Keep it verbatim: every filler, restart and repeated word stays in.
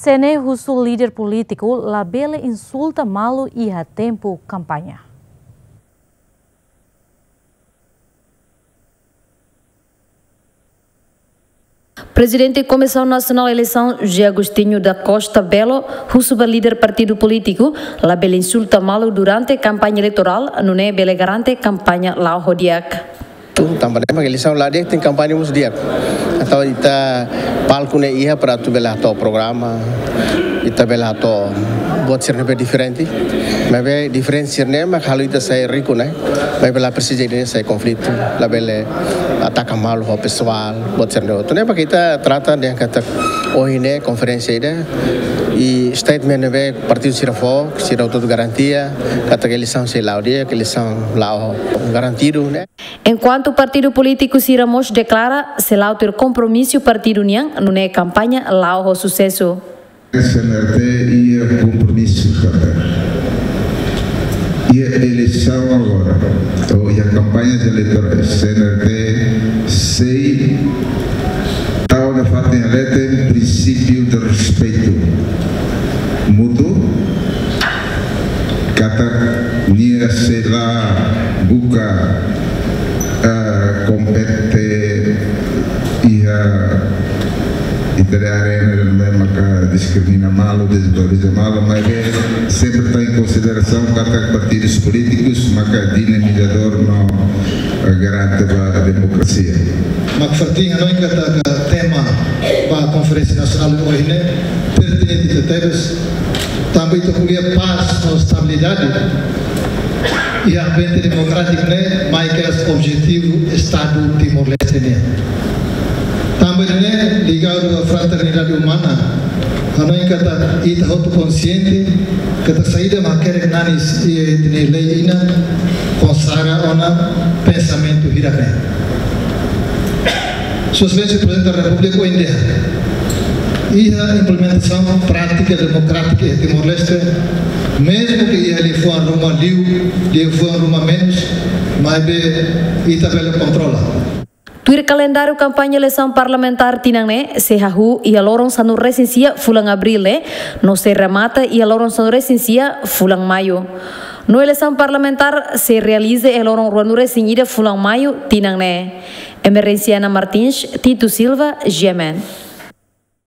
Temer husu líder polítiku labele insulta malu iha tempu kampaña. Prezidente Komisaun Nasionál Eleisaun, José Agostinho da Costa Belo, husu ba líder partidu polítiku labele insulta malu durante kampaña eleitorál, nune'e bele garante kampaña la'o ho di'ak. Tanba ne'e mak eleisaun la'o di'ak, tenke kampaña mós di'ak. Entaun ita palku ne'e iha para atu bele hato'o programa, ita bele hato'o buat sira ne'ebé diferente. Maibé diferente sira ne'e mak halo ita sai riku ne'e. Maibé la presiza ida-ne'e sai konflitu, labele ataka malu ho pesoál, buat sira ne'e. Entaun ne'e mak ita trata dehan katak ohin ne'e konferénsia ida, i statement ne'ebé partidu sira fó, sira hotu garantia katak eleisaun sei la'o di'ak, eleisaun la'o garantidu ne'e. Enkuantu partidu polítiku sira mós deklara sei la'o tuir kompromisu partidu nian, nune'e kampaña la'o ho susesu. CNRT iha kompromisu katak iha eleisaun agora, ou iha kampañas eleitorais, CNRT sei tau nafatin iha leten prinsípiu de respeitu mútuo, katak nia sei la buka, ah, kompete iha ita-nia arena, ne'ebé maka diskrimina malu, dezvaloriza malu, maibé sempre toma em consideração katak partidus polítikus maka dinamizadór no, eh, garante ba demokrasia. Mak fatin hanoin katak tema ba Konferénsia Nasionál ohin ne'e pertinente tebes, tanba ita ko'alia pás no estabilidade iha ambiente demokrátiku ne'e, maibé objetivu Estadu Timor-Leste nian. Tanba ne'e ligadu à fraternidade umana, hanoin katak ita hotu konsiente katak saida mak hakerek nanis iha ita-nia lei inan konsagra ona pensamentu hirak ne'e. Sua Exelénsia Prezidente da Repúblika ohin dehan, iha implementasaun prátika demokrátika iha Timor-Leste, mezmu ke iha liafuan ruma liu, liafuan ruma menus, maibé ita bele kontrola. Tuir kalendáriu kampaña eleisaun parlamentár tinan ne'e sei hahú iha loron sanulu-resin-sia fulan Abríl ne'e, no sei remata iha loron sanulu-resin-sia fulan Maiu. No eleisaun parlamentár sei realiza iha loron ruanulu-resin-ida fulan Maiu tinan ne'e. Emerenciana Martins, Tito Silva, G M N.